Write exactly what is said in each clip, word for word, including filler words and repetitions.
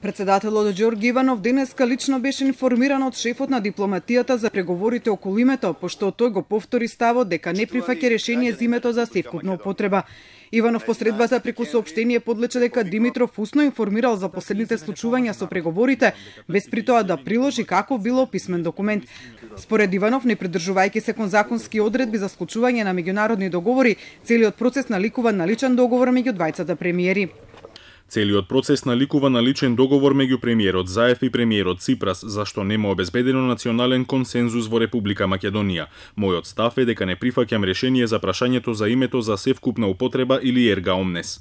Председателот Ѓорѓи Иванов денеска лично беше информиран од шефот на дипломатијата за преговорите околу името, пошто тој го повтори ставот дека не прифаќа решение за името за севкупна употреба. Иванов посредбата преку соопштение подлече дека Димитров усно информирал за последните случувања со преговорите, без при тоа да приложи каков било писмен документ. Според Иванов, не придржувајќи се кон законски одредби за склучување на меѓународни договори, целиот процес наликува на личен договор меѓу двајцата премиери. Целиот процес наликува на личен договор меѓу премиерот Заев и премиерот Ципрас, зашто нема обезбедено национален консензус во Република Македонија. Мојот став е дека не прифаќам решение за прашањето за името за севкупна употреба или ерга омнес.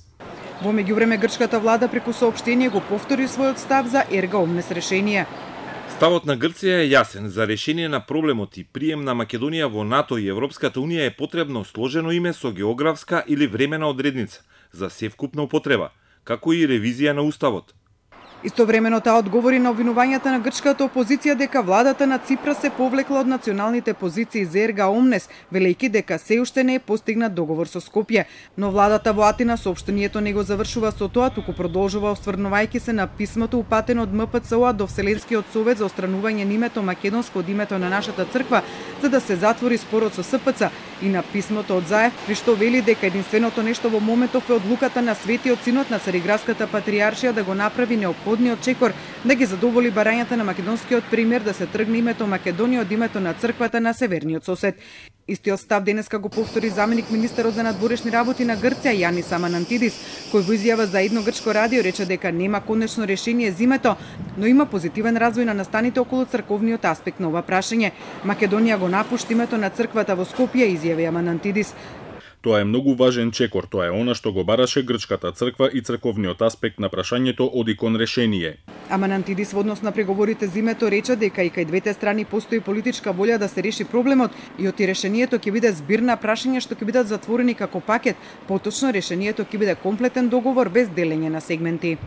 Во меѓувреме грчката влада преку соопштение го повтори својот став за ерга омнес решение. Ставот на Грција е јасен. За решение на проблемот и прием на Македонија во НАТО и Европската Унија е потребно сложено име со географска или времена одредница за севкупна употреба, како и ревизија на уставот. Истовремено таа одговори на обвинувањата на грчката опозиција дека владата на Ципрас се повлекла од националните позиции за ерга омнес, велејќи дека се уште не е постигнат договор со Скопје. Но владата во Атина соопштението не го завршува со тоа, туку продолжува осврнувајќи се на писмото упатено од М П Ц О до Вселенскиот совет за отстранување на името македонско од името на нашата црква, за да се затвори спорот со С П Ц, и на писмото од Заев, при што вели дека единственото нешто во моментов е одлуката на Светиот Синод на Цариградската патријаршија да го направи неопходниот чекор да ги задоволи барањата на македонскиот премиер да се тргне името Македонија од името на црквата на северниот сосед. Истиот став денеска го повтори заменик министерот за надворешни работи на Грција Јанис Аманантидис, кој во изјава за едно грчко радио рече дека нема конечно решение за името, но има позитивен развој на настаните околу црковниот аспект на ова прашање. Македонија го напушти името на црквата во Скопје, изјави Аманантидис. Тоа е многу важен чекор, тоа е она што го бараше грчката црква и црковниот аспект на прашањето оди кон решение. Аманантидис во однос на преговорите за името рече дека и кај двете страни постои политичка волја да се реши проблемот и оти решението ќе биде збир на прашања што ќе бидат затворени како пакет, поточно решението ќе биде комплетен договор без делење на сегменти.